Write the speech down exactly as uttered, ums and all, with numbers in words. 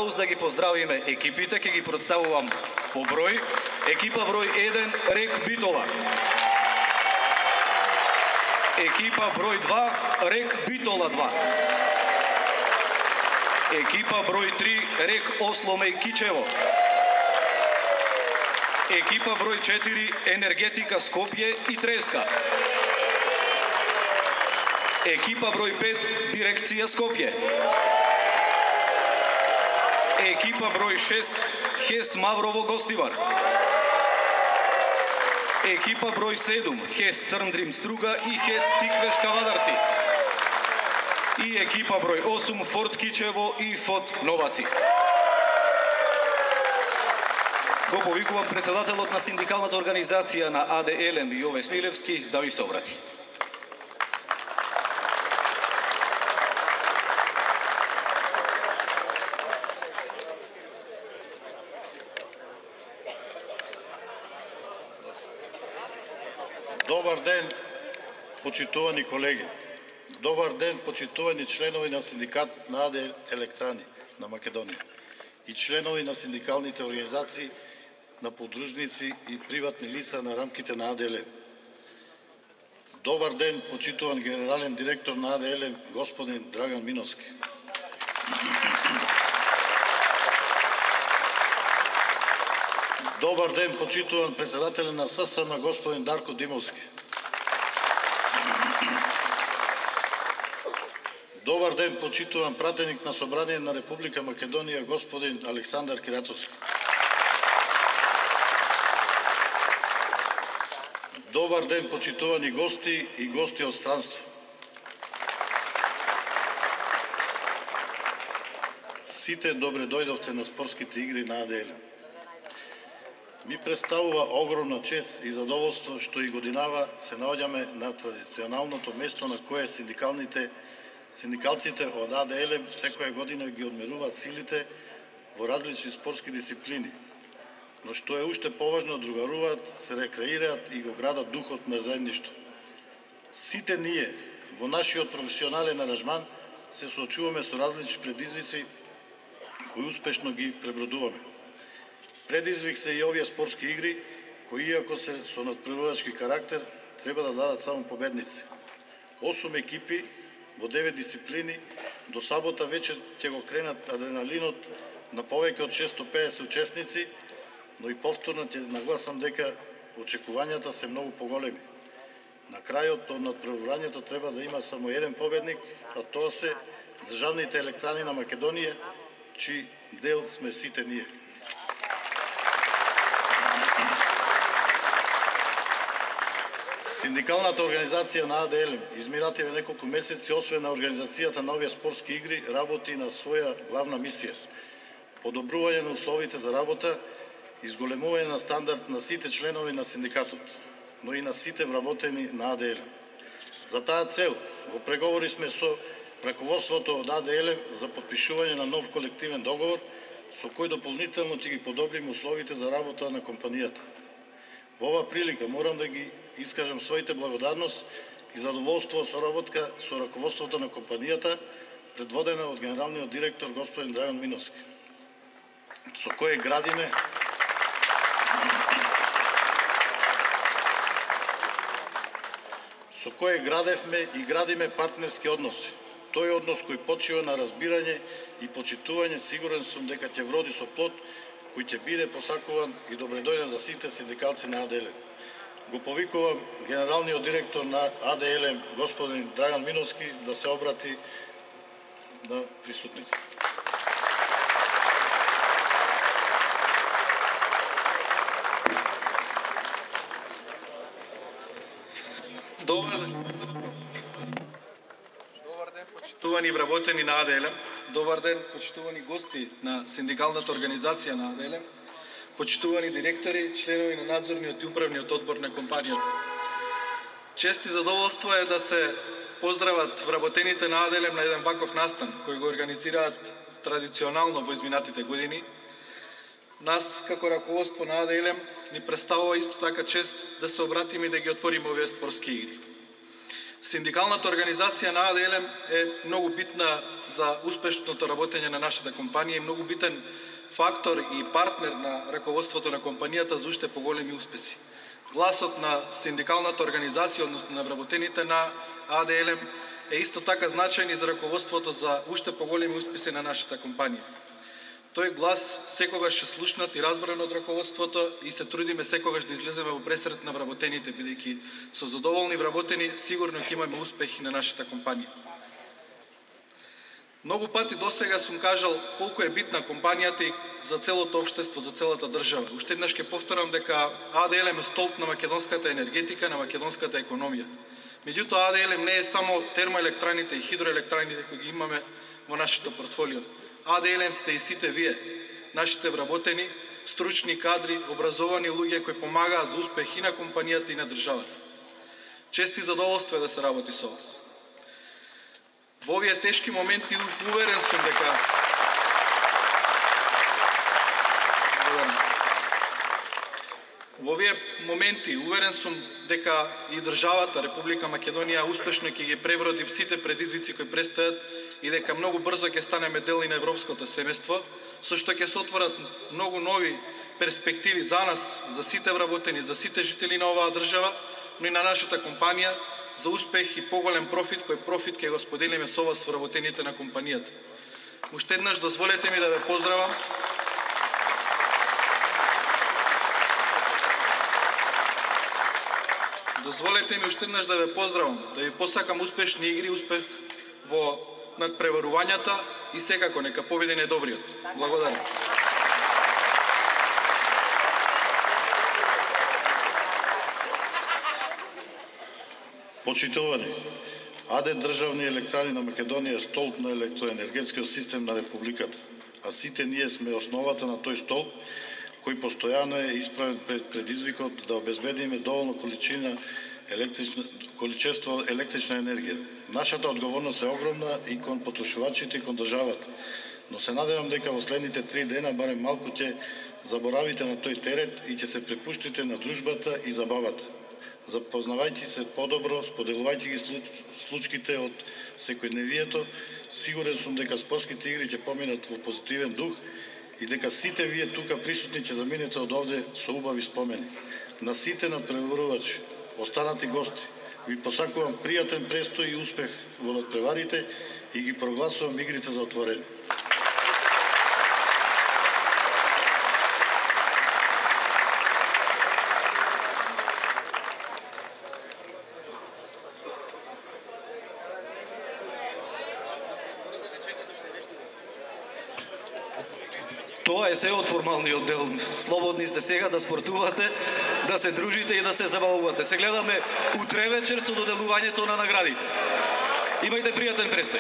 Да ги поздравиме екипите, ќе ги представувам по број. Екипа број еден Рек Битола. Екипа број два Рек Битола два. Екипа број три Рек Осломеј Кичево. Екипа број четири Енергетика Скопје и Треска. Екипа број пет Дирекција Скопје. Екипа број шест Хес Маврово Гостивар. Екипа број седум Хес Црндрим Струга и Хец Тиквеш Кавадарци. И екипа број осум Форт Кичево и Фот Новаци. Го повикувам председателот на синдикалната организација на А Д Елем Јове Смилевски да ви се обрати. Добар ден, почитувани колеги. Добар ден, почитувани членови на синдикат на А Д Електрани на Македонија и членови на синдикалните организации на подружници и приватни лица на рамките на А Д Елем. Добар ден, почитуван генерален директор на А Д Елем, господин Драган Миновски. Добар ден, почитуван председател на С С М, господин Дарко Димовски. Добар ден, почитуван пратеник на Собрание на Република Македонија, господин Александар Кирацовски. Добар ден, почитувани гости и гости од странство. Сите добре дојдовте на спортските игри на А Д Елем. Ми представува огромна чест и задоволство што и годинава се наоѓаме на традиционалното место на кое синдикалните синдикалците од А Д Елем секоја година ги одмеруваат силите во различни спортски дисциплини, но што е уште поважно, другаруваат, се рекреираат и го градат духот на заедништво. Сите ние во нашиот професионален аранжман се соочуваме со различни предизвици кои успешно ги пребродуваме. Предизвик се и овие спортски игри, кои иако се со надпреварувачки карактер, треба да дадат само победници. Осум екипи во девет дисциплини, до сабота веќе ќе го кренат адреналинот на повеќе од шестоста и педесет учесници, но и повторно ќе нагласам дека очекувањата се многу поголеми. На крајот од надпреварувањето треба да има само еден победник, а тоа се државните електрани на Македонија, чиј дел сме сите ние. Синдикалната организација на А Д Елем изминативе неколку месеци, освен на организацијата на овие спортски игри, работи на своја главна мисија – подобрување на условите за работа, изголемување на стандард на сите членови на синдикатот, но и на сите вработени на А Д Елем. За таа цел, во преговори сме со раководството од А Д Елем за подпишување на нов колективен договор, со кој дополнително ќе ги подобриме условите за работа на компанијата. Во ова прилика морам да ги искажам своите благодарност и задоволство со работка со раководството на компанијата, предводена од генералниот директор господин Драган Миновски, со кое градиме со кое градевме и градиме партнерски односи. Тој однос кој почива на разбирање и почитување, сигурен сум дека ќе вроди со плод кој ќе биде посакуван и добредојден за сите синдикалци на А Д Елем. Го повикувам генералниот директор на А Д Елем, господин Драган Миновски, да се обрати на присутните. Добар ден. Добар ден, почитувани вработени на А Д Елем. Добар ден, почитувани гости на синдикалната организација на А Д Елем. Почитувани директори, членови на надзорниот и управниот одбор на компанијата. Чест и задоволство е да се поздрават вработените на А Д Елем на еден ваков настан, кој го организираат традиционално во изминатите години. Нас, како раководство на А Д Елем, ни представува исто така чест да се обратиме и да ги отвориме овие спортски игри. Синдикалната организација на А Д Л М е многу битна за успешното работење на нашата компанија и многу битен фактор и партнер на раководството на компанијата за уште поголеми успеси. Гласот на синдикалната организација, односно на вработените на А Д Л М, е исто така значајен и за раководството за уште поголеми успеси на нашата компанија. Тој глас секогаш е слушнат и разбран од раководството и се трудиме секогаш да излеземе во пресрет на вработените, бидејќи со задоволни вработени сигурно ќе имаме успехи на нашата компанија. Многу пати досега сум кажал колку е битна компанијата и за целото општество, за целата држава. Уште еднаш ќе повторам дека А Д Л М е столб на македонската енергетика, на македонската економија. Меѓутоа, А Д Л М не е само термоелектраните и хидроелектраните кои ги имаме во нашето портфолио. А Д Л М сте и сите вие, нашите вработени, стручни кадри, образовани луѓе кои помагаат за успех и на компанијата и на државата. Чест и задоволство е да се работи со вас. Во овие тешки моменти уверен сум дека Во овие моменти уверен сум дека и државата Република Македонија успешно ќе ги преброди сите предизвици кои престојат и дека многу брзо ќе станеме дел и на европското семејство, со што ќе се отворат многу нови перспективи за нас, за сите вработени, за сите жители на оваа држава, но и на нашата компанија, за успех и поголем профит, кој профит ќе го споделиме со вас вработените на компанијата. Уште еднаш дозволете ми да ве поздравам. Дозволете ми уште еднаш да ве поздравам, да ви посакам успешни игри, успех во надпреварувањата и секако нека победи најдобриот. Благодарам. Почитувани, А Д државни електрани на Македонија е столб на електроенергетскиот систем на Републиката, а сите ние сме основата на тој столб, кој постојано е исправен пред предизвикот да обезбедиме доволно количина електрична, количество електрична енергија. Нашата одговорност е огромна и кон потрошувачите и кон државата, но се надевам дека во следните три дена барем малку ќе заборавите на тој терет и ќе се препуштите на дружбата и забавата. Запознавајќи се подобро, споделувајќи ги случките од секојдневието, сигурен сум дека спортските игри ќе поминат во позитивен дух и дека сите вие тука присутни ќе заминете од овде со убави спомени. На сите надпреварувачи, останати гости, ви посакувам пријатен престој и успех во надпреварите и ги прогласувам игрите за отворени. Тоа е се од формалниот дел. Слободни сте сега да спортувате, да се дружите и да се забавувате. Се гледаме утре вечер со доделувањето на наградите. Имајте пријатен престој.